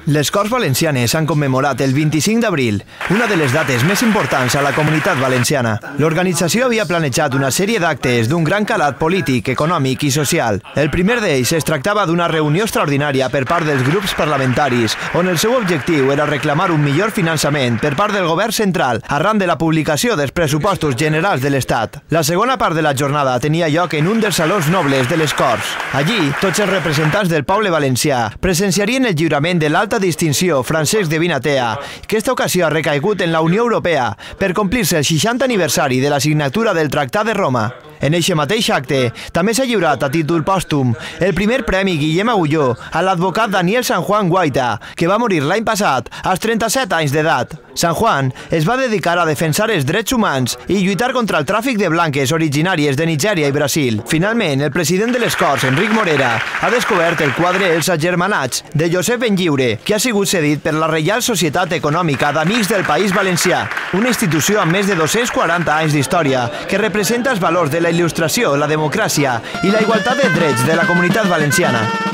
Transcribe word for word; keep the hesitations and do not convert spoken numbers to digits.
Les Corts Valencianes han commemorat el vint-i-cinc d'abril, una de les dates més importants a la comunitat valenciana. L'organització havia planejat una sèrie d'actes d'un gran calat polític, econòmic i social. El primer d'ells es tractava d'una reunió extraordinària per part dels grups parlamentaris, on el seu objectiu era reclamar un millor finançament per part del govern central arran de la publicació dels pressupostos generals de l'Estat. La segona part de la jornada tenia lloc en un dels salons nobles de les Corts. Allí, tots els representants del poble valencià presenciarien el lliurament de l'alta distinció Francesc de Vinatea, que esta ocasió ha recaigut en la Unió Europea per complir-se el seixantè aniversari de la signatura del Tractat de Roma. En eixe mateix acte també s'ha lliurat a títol pòstum el primer Premi Guillem Agulló a l'advocat Daniel San Juan Guaita, que va morir l'any passat als trenta-set anys d'edat. San Juan es va dedicar a defensar els drets humans i lluitar contra el tràfic de blanques originàries de Nigèria i Brasil. Finalment, el president de les Corts, Enric Morera, ha descobert el quadre Els Agermanats de Josep Benlliure, que ha sigut cedit per la Reial Societat Econòmica d'Amics del País Valencià, una institució amb més de dos-cents quaranta anys d'història que representa els valors de la il·lustració, la democràcia i la igualtat de drets de la comunitat valenciana.